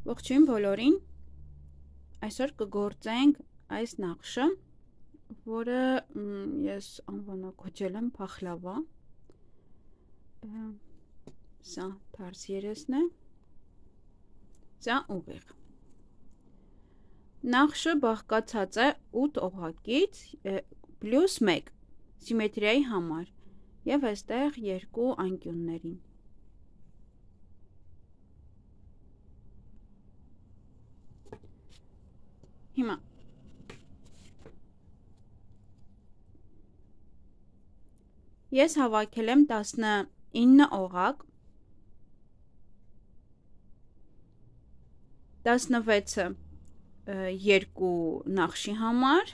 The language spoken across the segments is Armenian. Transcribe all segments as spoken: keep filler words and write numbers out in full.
Ողջույն բոլորին, այսօր կգործենք այս նախշը, որը ես անվանակոչել եմ փախլավա, սա թարս երեսն է, սա ուղիղ։ Նախշը բաղկացած է ութ օղակից պլյուս մեկ սիմետրիայի համար և այստեղ երկու անկյուններին։ Հիմա ես հավաքել եմ տասնինը օղակ, տասնվեցը երկու նախշի համար,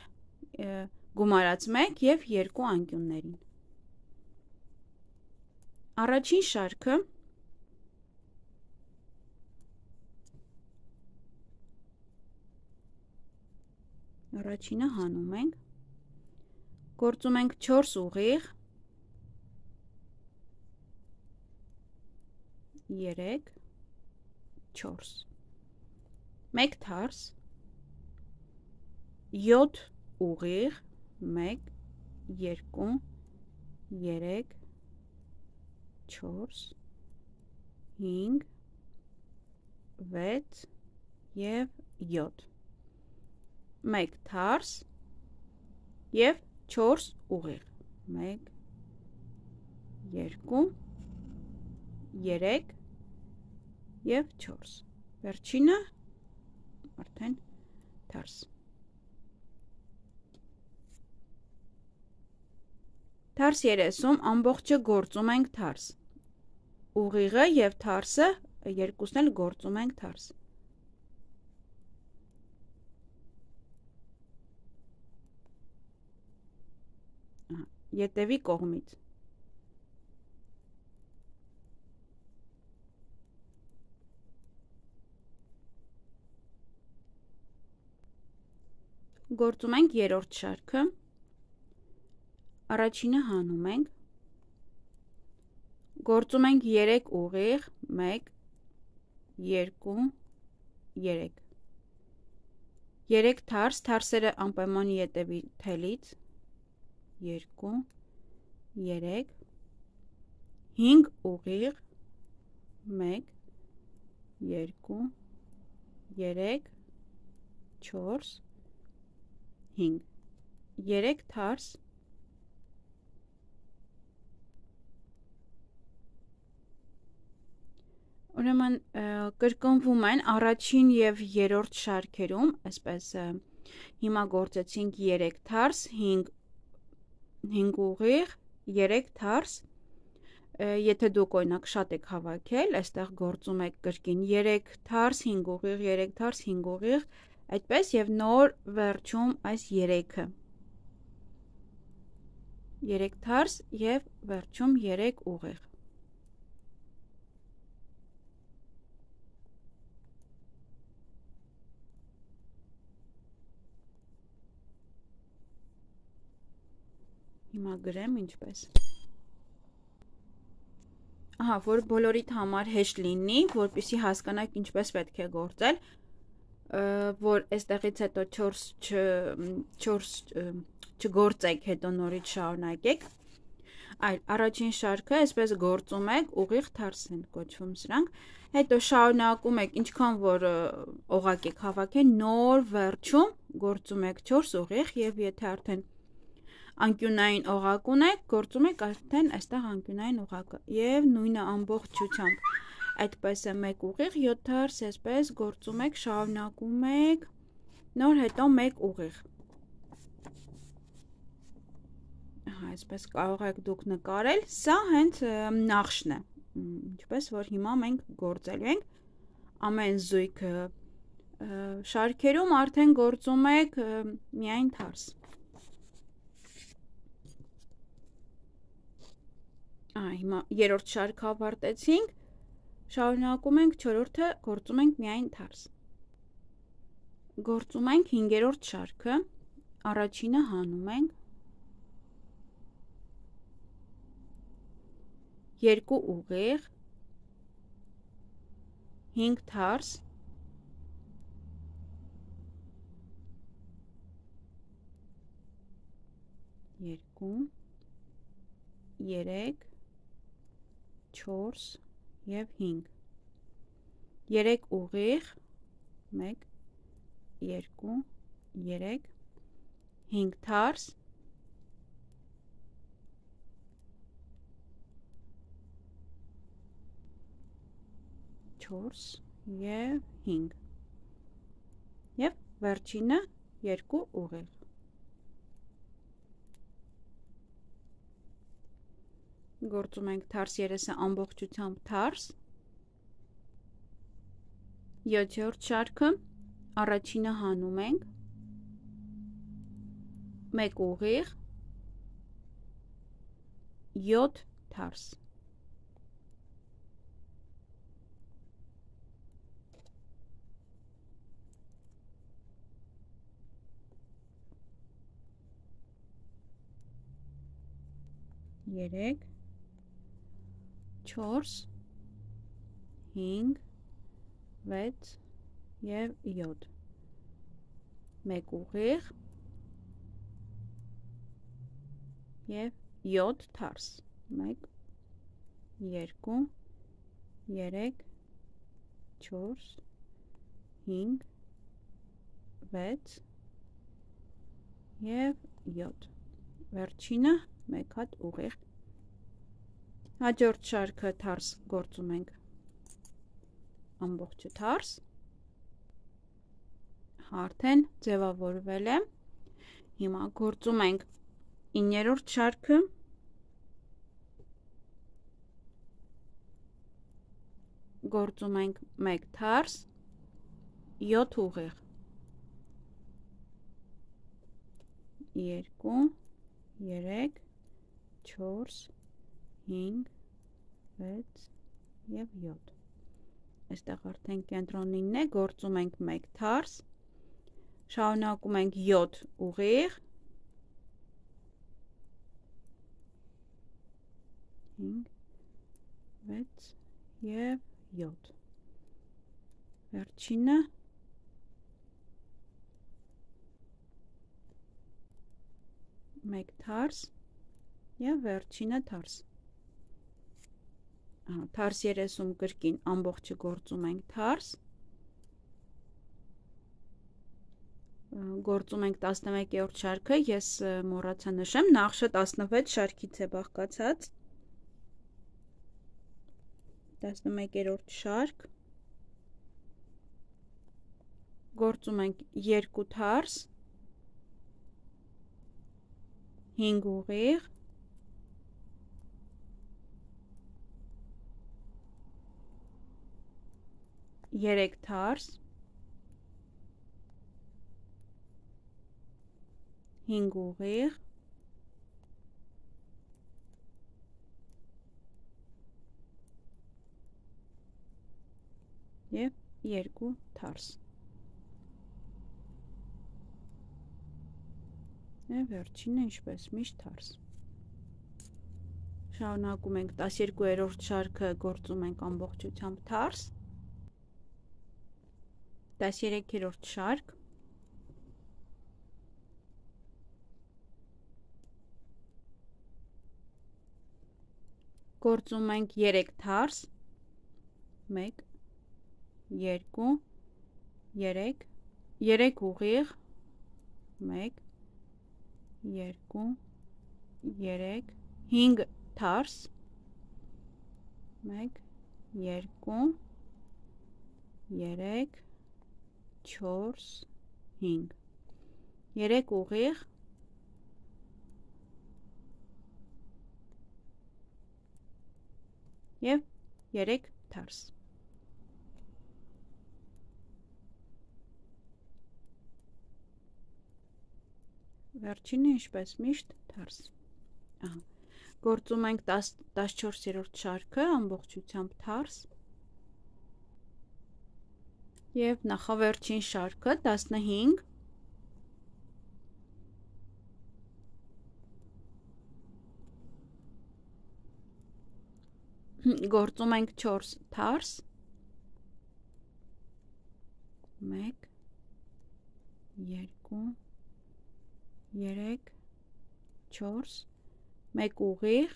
գումարած մեկ և երկու անկյուններին։ Առաջին շարքը Առաջինը հանում ենք, գործում ենք չորս ուղիղ, երեք, չորս, մեկ թարս, յոթ ուղիղ, մեկ, երկու, երեք, չորս, հինգ, վեց և յոթ, մեկ թարս և չորս ուղիղ, մեկ, երկու, երեք և չորս, վերջինը արդեն թարս։ Թարս երեսում ամբողջը գործում ենք թարս, ուղիղը և թարսը երկուսն էլ գործում ենք թարս։ Ետևի կողմից գործում ենք երրորդ շարքը, առաջինը հանում ենք, գործում ենք երեք ուղիղ, մեկ, երկու, երեք, երեք թարս, թարսերը անպայման ետևի թելից, երկու, երեք, հինգ ուղիղ, մեկ, երկու, երեք, չորս, հինգ, երեք թարս, ուրեմն կրկնվում են առաջին և երրորդ շարքերում, այսպես հիմա գործեցինք երեք թարս, հինգ ուղիղ, երեք թարս, եթե դուք օրինակ շատ եք հավաքել, այստեղ գործում եք կրկին երեք թարս, հինգ ուղիղ, երեք թարս, հինգ ուղիղ, այդպես և նոր վերջում այս երեքը, երեք թարս և վերջում երեք ուղիղ։ Հիմա գրեմ ինչպես։ Ահա, որ բոլորիդ համար հեշտ լինի, որպեսզի հասկանաք ինչպես պետք է գործել, որ այստեղից հետո չորս չգործեք, հետո նորից շարունակեք, այլ առաջին շարքը այսպես գործում եք, ուղիղ թարս են կոչվում սրանք, հետո շարունակում եք, ինչքան որ օղակ եք հավաքել, նոր վերջում գործում եք չորս ուղիղ և եթե արդեն անկյունային օղակ ունեք, գործում եք արդեն այստեղ անկյունային օղակը և նույնը ամբողջությամբ, այդպես է մեկ ուղիղ, յոթ թարս, այսպես գործում եք, շարունակում եք, նոր հետո մեկ ուղիղ։ Այսպես կարող եք դուք նկարել, սա հենց նախշն է, ինչպես որ հիմա մենք գործելու ենք, ամեն զույգ շարքերում արդեն գործում եք միայն թարս։ Հիմա երրորդ շարքը ավարտեցինք, շարունակում ենք չորրորդը, գործում ենք միայն թարս։ Գործում ենք հինգերորդ շարքը, առաջինը հանում ենք, երկու ուղիղ, հինգ թարս, երկու, երեք, չորս և հինգ, երեք ուղիղ, մեկ, երկու, երեք, հինգ թարս, չորս և հինգ, և վերջինը երկու ուղիղ։ Գործում ենք թարս երեսը ամբողջությամբ թարս, յոթերորդ շարքը, առաջինը հանում ենք, մեկ ուղիղ, յոթ թարս, երեք, չորս, հինգ, վեց և յոթ, մեկ ուղիղ և յոթ թարս, մեկ, երկու, երեք, չորս, հինգ, վեց և յոթ, վերջինը մեկ հատ ուղիղ։ Հաջորդ շարքը թարս գործում ենք ամբողջը թարս, արդեն ձևավորվել է, հիմա գործում ենք իններորդ շարքը, գործում ենք մեկ թարս, յոթ ուղիղ, երկու, երեք, չորս, հինգ, վեց և յոթ, այստեղ արդեն կենտրոնինն է, գործում ենք մեկ թարս, շարունակում ենք յոթ ուղիղ, հինգ, վեց և յոթ, վերջինը մեկ թարս և վերջինը թարս, թարս երեսում կրկին ամբողջը գործում ենք թարս, գործում ենք տասնմեկերորդ շարքը, ես մոռացա նշեմ, նախշը տասնվեց շարքից է բաղկացած, տասնմեկերորդ շարք, գործում ենք երկու թարս, հինգ ուղիղ, երեք թարս, հինգ ուղիղ, և երկու թարս, և վերջինը ինչպես միշտ թարս, շարունակում ենք տասներկուերորդ շարքը, գործում ենք ամբողջությամբ թարս, տասներեքերորդ շարք, գործում ենք երեք թարս, մեկ, երկու, երեք, երեք ուղիղ, մեկ, երկու, երեք, հինգ թարս, մեկ, երկու, երեք, չորս, հինգ, երեք ուղիղ, և երեք թարս, վերջինը ինչպես միշտ թարս, գործում ենք տասնչորսերորդ շարքը, ամբողջությամբ թարս, և նախավերջին շարքը տասնհինգ, գործում ենք չորս թարս, մեկ, երկու, երեք, չորս, մեկ ուղիղ,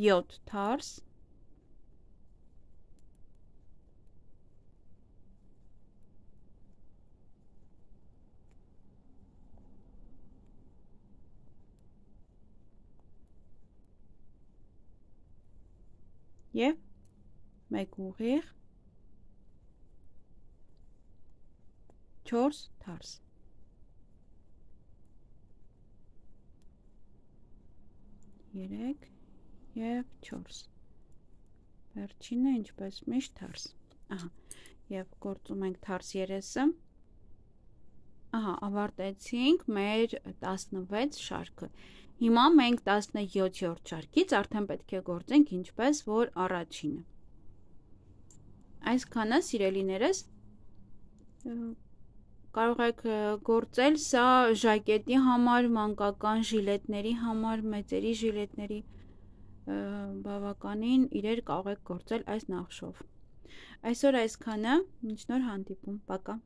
յոթ թարս, և մեկ ուղիղ, չորս թարս։ երեք և չորս։ Վերջինը ինչպես միշտ թարս։ Ահա, և գործում ենք թարս երեսը։ Ահա, ավարտեցինք մեր տասնվեց շարքը։ Հիմա մենք տասնյոթերորդ շարքից արդեն պետք է գործենք ինչպես որ առաջինը։ Այսքանը, սիրելիներս, կարող եք գործել սա ժակետի համար, մանկական ժիլետների համար, մեծերի ժիլետների բավականին իրեր կարող եք գործել այս նախշով։ Այսօր այսքանը, մինչ նոր հանդիպում, պակա։